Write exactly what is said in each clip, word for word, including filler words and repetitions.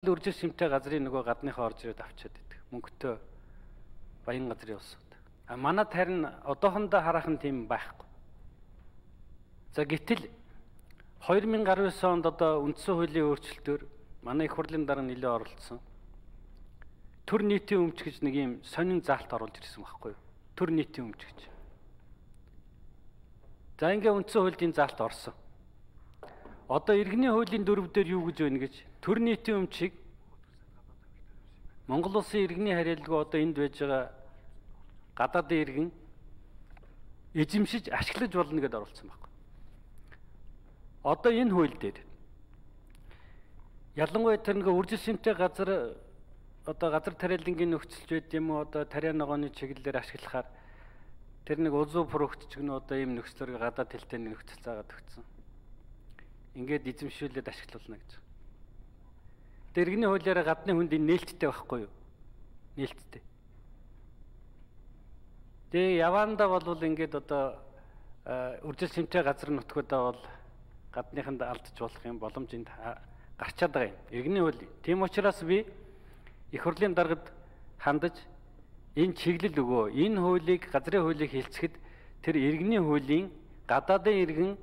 Үржил шимтэй газрын нөгөө гадныхаа орж ирээд авчиад идэг. Мөнгөтэй баян газрын улсууд. А манад харин одоохондоо хараахан тийм байхгүй. За гэтэл хоёр мянга гаруй онд одоо үндсэн хуулийн өөрчлөлтөөр манай их хурлын дараа нэлээд оролцсон. Төр нийтийн өмч гэж нэг юм сонин заалт оруулж ирсэн байхгүй юу? Төр нийтийн өмч гэж. За ингээ үндсэн хуулийн заалт орсон. Одоо иргэний хуулийн дөрөв дээр юу гэж байна гэж төр нийтийн өмчийг Монгол улсын иргэний хариалгүй одоо энд байж байгаа гадаадын иргэн эзэмшиж ашиглаж болно гэдээ оруулсан байна. Одоо энэ хууль дээр ялангуяа тэр нэг үржил шимтэй газар одоо газар тариалангийн нөхцөлж байд юм уу одоо тариа ногооны чиглэлээр ашиглахаар тэр нэг улзуу продукт ч гэнэ одоо ийм нөхцлөөр гадаад хэлтэй нөхцөл заагаад өгсөн. Ингээд эзэмшүүлээд ашиглуулна гэж. Дэргэний хуулиараа гадны хүнд энэ нээлттэй байхгүй юу? Нээлттэй. Тэгээ явандаа бол ингээд одоо үржил шимтэй газар нутгуудаа бол гадныханд алдж болох юм боломж энд гарчаад байгаа юм. Иргэний хууль. Тийм учраас би их хурлын даргад хандаж энэ чиглэл өгөө. Энэ хуулийг газрын хуулийг хэлцэхэд тэр иргэний хуулийн гадаадын иргэн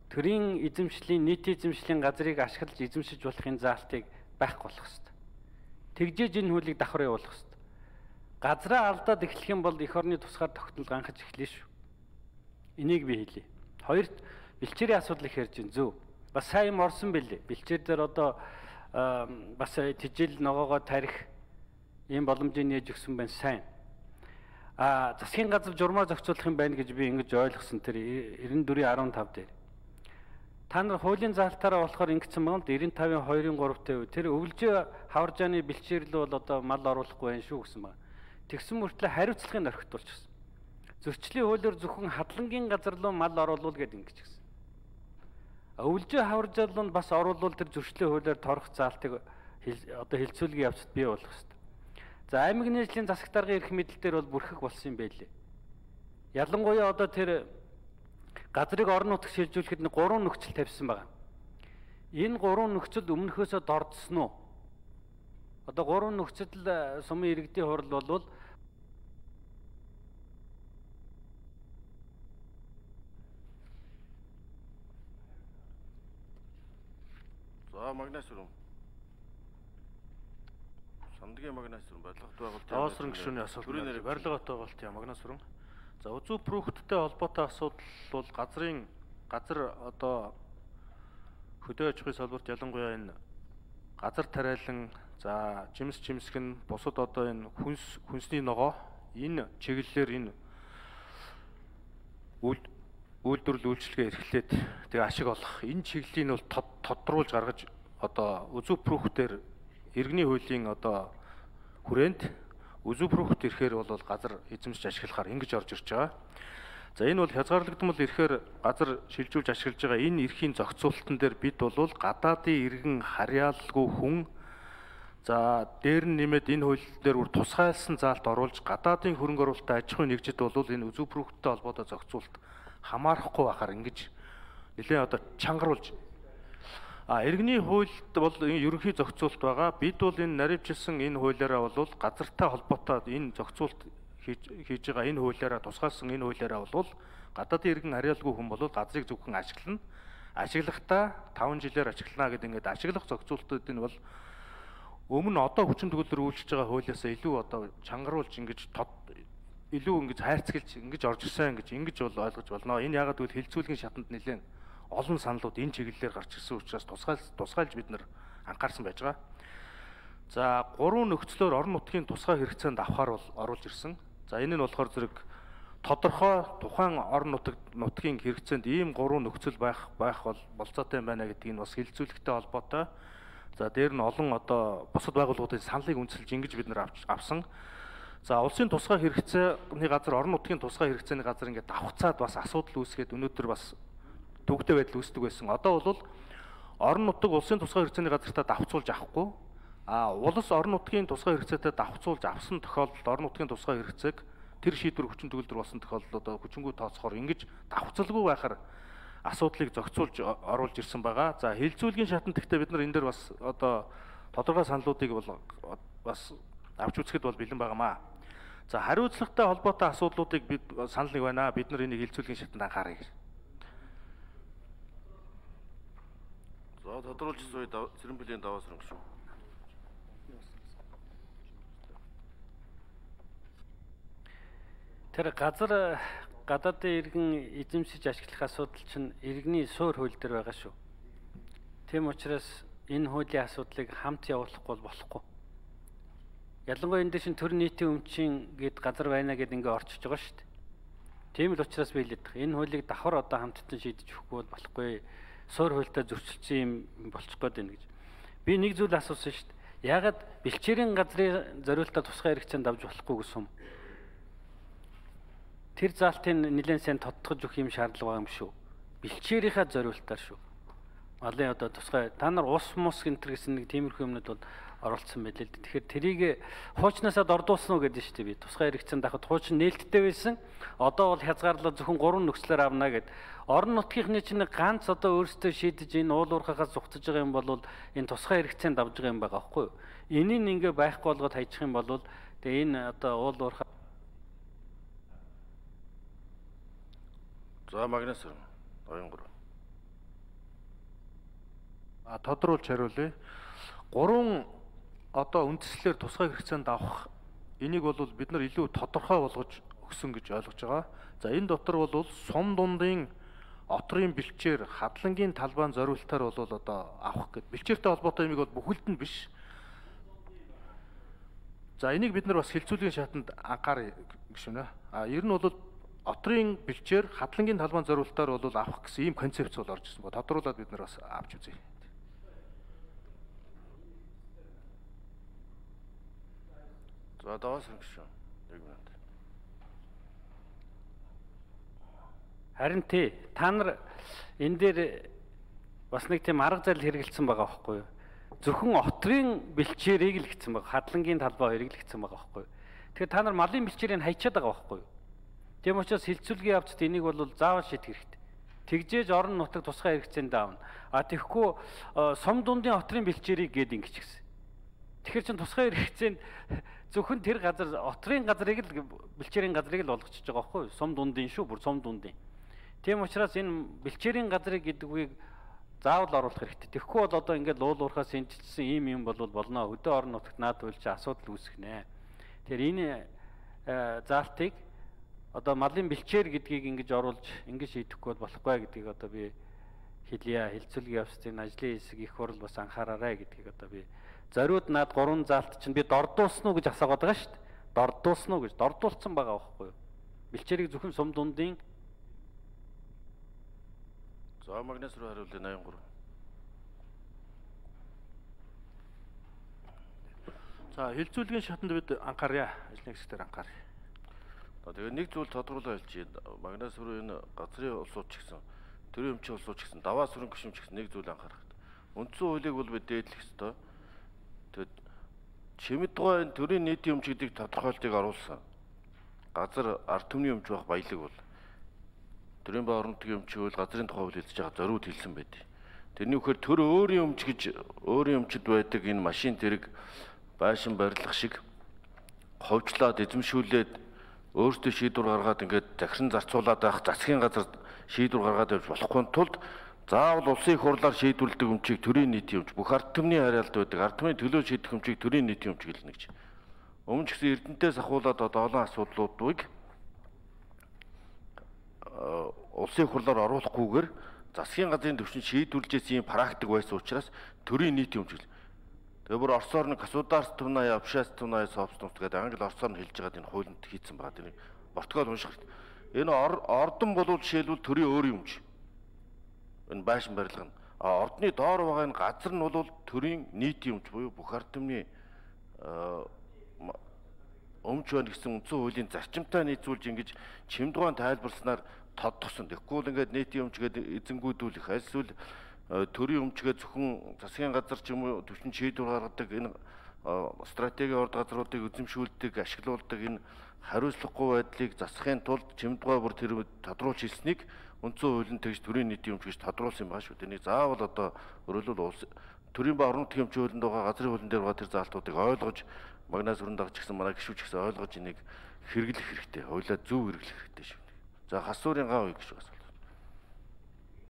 төрийн эзэмшлийн нийтийн эзэмшлийн газрыг ашиглаж эзэмшиж болохын заалтыг байхгүй болох ёстой. Тэгжээж энэ хуулийг давхар явуулах ёстой. Газраа алдаад эхлэх юм бол эх орны тусгаар тогтнол ганхаж эхлэв шүү. Энийг би хэлье. Хоёрт бэлчээрийн асуудлыг ярьж байна зөв. Бас сайн юм орсон бэлээ. Бэлчээр дээр одоо бас тижэл ногоогоо тарих ийм боломжийг нээж өгсөн байна сайн. А засгийн газар журмаа зохицуулах юм байна гэж би ингэж ойлгосон тэр девяносто четыре15 дээр. Та нар хуулийн заалтаараа болохоор ингэсэн байгаа л девяносто пять two three тэр өвлжөө хаваржааны бэлчээрлэл бол одоо мал оруулахгүй байх шүү гэсэн байна. Тэгсэн мөртлөө хариуцлагыг орхитуулчихсан. Зөрчлийн хуулиар зөвхөн хадлангийн газар руу мал оруулуул гэдэг ингэж гисэн. Өвлжөө хаваржаал нь бас оруулуул тэр зөрчлийн хуулиар торох заалтыг одоо хилцүүлгийн явцад бий болох хэрэгтэй. За аймаг нийслэлийн засаг даргын эрх мэдэл дээр бол бүрхэг болсон юм байлээ. Ялангуяа одоо тэр газрыг орон нутагт шилжүүлэхэд нэг гурван нөхцөл тавьсан байгаа. Энэ гурван нөхцөлд өмнөхөөсөө дордсон уу? Одоо гурван нөхцөл сумын иргэдийн хурал болвол за магнас руу. Сандгийн магнас руу барилгат байгуулалт. Оосрон гишүүний асуудал. Барилгат байгуулалт яа магнас руу. За үзүү продукттэй холбоотой асуудал бол газрын газар одоо хөдөө аж ахуйн салбарт ялангуяа энэ газар тариалан за жимс жимсгэн бусад одоо энэ хүнс хүнсний ногоо энэ чиглэлээр энэ үйл үйлдвэрлэл үйлчлэгээ эрхлээд тэгээ ашиг олох энэ чиглэлийг бол тодруулж гаргаж одоо үзүү продуктээр иргэний хуулийн одоо хүрээнд үзүү продукт ирэхээр бол газар эзэмшиж ашиглахаар ингэж орж ирж байгаа. За энэ бол хязгаарлагдмал ирэхээр газар шилжүүлж ашиглаж байгаа энэ эрхийн зохицуулалтан дээр бид бол гадаадын иргэн харьяалгүй хүн за дээр нь нэмээд энэ хууль дээр бүр тусгайлсан заалт оруулж гадаадын хөрөнгө оруулалтад аж ахуйн нэгжид бол энэ үзүү продукттэй холбоотой зохицуулалт хамаарахгүй байхаар ингэж нэлээд одоо чангаруулж а иргэний хуульд бол энэ ерөнхий зохицуулалт байгаа. Бид бол энэ наривчилсан энэ хуулиараа бол газартай холбоотой энэ зохицуулалт хийж байгаа энэ хуулиараа тусгаалсан энэ хуулиараа бол гадаадын иргэн харьяалгүй хүн бол газрыг зөвхөн ашиглана. Ашиглахдаа таван жилээр ашиглана гэдэг ингээд ашиглах зохицуулалтууд энэ бол өмнө одоо хүчин төгөлдөр үйлчилж байгаа хуулиасаа илүү одоо чангаруулж ингэж илүү ингэж хайрцагч ингэж орж ирсэн гэж ингэж бол ойлгож болно. Энэ ягаад гэвэл хилцүүлгийн шатанд нэлээд олон саналууд энэ чиглэлээр гарч ирсэн учраас тусгайл тусгайлж бид нар анхаарсан байж байгаа. За гурван нөхцлөөр орон нутгийн тусгай хэрэгцээнд авахар бол оруулж ирсэн. За энэ нь болохоор зэрэг тодорхой тухайн орон нутаг нутгийн хэрэгцээнд ийм гурван нөхцөл байх байх бол болцоотой юм байна гэдгийг нь бас хилцүүлэгтэй холбоотой. За дээр нь олон одоо бусад байгууллагуудын саналыг үндэслэж ингэж бид нар авсан. За улсын тусгай хэрэгцээний газар орон нутгийн тусгай хэрэгцээний газар ингээд давхцаад бас асуудал үүсгээд өнөөдөр бас төвөгтэй байдал үүсдэг байсан. Одоо бол орон нутаг улсын тусгай хэрэгцээний газартаа давхцуулж авахгүй а улс орон нутгийн тусгай хэрэгцээтэй давхцуулж авсан тохиолдолд орон нутгийн тусгай хэрэгцээг тэр шийдвэр хүчин төгөлдөр болсон тохиолдолд одоо хүчингү тооцохоор ингэж давхцалгүй байхаар асуудлыг зохицуулж оруулж ирсэн байгаа. За хилцүүлгийн шатанд гэхдээ бид нар энэ дээр бас одоо тодорхой саналуудыг бол бас авч үзэхэд бол бэлэн байгаамаа. За хариуцлагатай холбоотой асуудлуудыг бид санал нэг байна. Бид нар энийг хилцүүлгийн шатанд анхаарай гэж. За тодруулж суй Цэрэнбэлийн даваа сөрөнгө шүү. Тэр газар гадаадын иргэн эзэмшиж ашиглах асуудал чинь иргэний суур хууль дээр байгаа шүү. Тийм учраас энэ хуулийн асуудлыг хамт явуулахгүй болохгүй. Ялангуяа энэ дэшин төр нийтийн өмчийн гээд газар байна гэд ингээ орчиж байгаа шүү дээ. Тийм л учраас би хэлээд байгаа. Энэ хуулийг давхар одоо хамтдаа шийдэж өгөхгүй бол болохгүй. Суур хуультай зөрчилсөн юм болчих гээд байна гэж. Би нэг зүйл асуусан шүү дээ. Яагаад бэлчээрийн газрын зориулалтаа тусгай хэрэгцээнд авч болохгүй гэсэн юм? Тэр заалтын нэлээд сайн тодтогч өгөх юм шаардлага байгаа юм шүү. Бэлчээрийнхаа зориултаар шүү. Малын одоо тусгай та нар ус мус гэнтэр гэсэн нэг тиймэрхүү юмнууд бол оролцсон байлээ л дээ. Тэгэхээр тэрийг хуучнаасаа дордуулсан уу гэдэг шүү дээ би. Тусгай хэрэгцээнд авахд хуучин нээлттэй байсан. Одоо бол хязгаарлал зөвхөн гурван нөхцлөөр авна гэд. Орон нутгийнхны чинь ганц одоо өөрсдөө шийдэж энэ уул уурхахаас зугтаж байгаа юм бол энэ тусгай хэрэгцээнд авж байгаа юм байгаа байхгүй юу? Энийг ингээ байхгүй болгоод хайчих юм бол тэгээ энэ одоо уул уурхаа. За магнас ноён гурав. А тодруулж хариулъя. Гурван одоо үндслэлээр тусгай хэрэгцээнд авах энийг бол бид нар илүү тодорхой болгож өгсөн гэж ойлгож байгаа. За энэ дотор бол сум дундын отрын бэлчээр хадлагын талбайн зориултаар бол одоо авах гэд. Бэлчээртэй холбоотой юмыг бол бүхэлд нь биш. За энийг бид нар бас хилцүүлгийн шатанд анхаарай гişүнэ. А ер нь бол отрын бэлчээр хадлагын талбайн зориултаар бол авах гэсэн ийм концепц бол орж ирсэн. Тодруулаад бид нар бас авч үзье. За даваа сөрөнгө шүү. Нэг минут. Харин тий та нар энэ дээр бас нэг тийм арга зарил хэрэгэлсэн байгаа байхгүй юу? Зөвхөн отрын бэлчээрийг л гэсэн байгаа. Хадлагын талбай хоёрыг л гэсэн байгаа байхгүй юу? Тэгэхээр та нар малын бэлчээрийг хайчаад байгаа байхгүй юу? Тийм учраас хилцүүлгийн явцад энийг бол заавал шийдэх хэрэгтэй. Тэгжээж орон нутаг тусгай хэрэгцээнд аавна. А тэгэхгүй сум дундын отрын бэлчээрийг гээд ингэж гисэн. Тэгэхээр чин тусгай хэрэгцээнд зөвхөн тэр газар отрын газрыг л бэлчээрийн газрыг л болгочихж байгаа байхгүй юу? Сум дундын шүү, бүр сум дундын. Тийм учраас энэ бэлчээрийн газрыг гэдгийг заавал оруулах хэрэгтэй. Тэгэхгүй бол одоо ингээд уул уурхаас энэчсэн ийм юм бол болно. Хөдөө орон нутагт наад үйлч асуудал үүсгэнэ. Тэгэхээр энэ заалтыг одоо малын бэлчээр гэдгийг ингэж оруулж ингэж шийдэхгүй болохгүй гэдгийг одоо би хэлье. Хилцүүлгийн явцын ажлын хэсэг их хурл бас анхаараарай гэдгийг одоо би зориуд наад гурван заалт чинь би дордуулсан уу гэж асуугаад байгаа шүү дээ. Дордуулсан уу гэж дордуулсан байгаа байхгүй юу? Бэлчээрийг зөвхөн сум дундын. За магнас руу хариулъя ноён гурав. За хилцүүлгийн шатанд бид анхаарья. Ажлын хэсгээр анхаарья. Тэгээ нэг зүйл тодруулаад хэлчихье. Магнас руу энэ газрын улсууд ч гэсэн төрийн өмчийн улсууд ч гэсэн даваа сүрэн гишүүн ч гэсэн нэг зүйл анхаарах хэрэгтэй. Үндсэн хуулийг бол бид дээдлэх ёстой. Тэгэд чимэд гоо энэ төрийн нийтийн өмч гэдгийг тодорхойлтыг оруулсан. Газар ард түмний өмч байх баялаг бол төрийн ба орон нутгийн өмч хууль газрын тухай хууль хэлж байгаа зориуд хэлсэн байдаг. Тэрний үхээр төр өөрийн өмч гэж өөрийн өмчд байдаг энэ машин тэрэг байшин барилга шиг ховжлаад эзэмшүүлээд өөртөө шийдвэр гаргаад ингээд захиран зарцуулаад байх засгийн газар шийдвэр гаргаад явж болохгүй тулд заавал улсын их хурлаар шийдвэрлэдэг өмчийг төрийн нийтийн өмч бүх ард түмний харьяалд байдаг ард түмний төлөө шийдэх өмчийг төрийн нийтийн өмч гэлнэ гэж. Өмнө ч гэсэн Эрдэнэтээс ахуулаад одоо олон асуудлуудыг улсын их хурлаар оруулахгүйгээр засгийн газрын түвшинд шийдвэрлэж ийм практик байсан учраас төрийн нийтийн өмч гэл. Тэгээ бүр Оросоор нэг государственная общественная собственность гэдэг англи орсоор нь хэлж байгаа энэ хуулинд хийцэн байгаа. Тэр протокол унших хэрэгтэй. Энэ ордон болвол жишээлбэл төрийн өөрийн өмч. Энэ байшин барилга нь. А ордны доор байгаа энэ газар нь бол төрийн нийтийн өмч буюу бүх ард түмний өмч байна гэсэн үндсэн хуулийн зарчимтай нийцүүлж ингэж чимдгаан тайлбарснаар тодтогсон. Тэгэхгүй бол ингээд нийтийн өмч гэдэг эзэнгүүдүүлэх эсвэл төрийн өмчгээ зөвхөн засгийн газар ч юм уу төвчн шийдвэр гаргадаг энэ стратегийн орд газруудыг эзэмшүүлдэг, ашиглуулдаг энэ хариуцлагагүй байдлыг засахын тулд чимдгаа бүр тэр тодруулж хэлснийг үндсэн хууль нь тэгж төрийн нийтийн өмч гэж тодруулсан юм байна шүү дээ. Энийг заавал одоо өөрөлдөл улс төрийн ба орон нутгийн өмчийн хуулинд байгаа газрын хуулийн дээр байгаа тэр заалтуудыг ойлгож магнаас өрн дагч гэсэн манай гишүүч гэсэн ойлгож энийг хэрэглэх хэрэгтэй. Хуулиа зөв хэрэглэх хэрэгтэй шүү дээ. За хас суурийн гав үе гэж байна.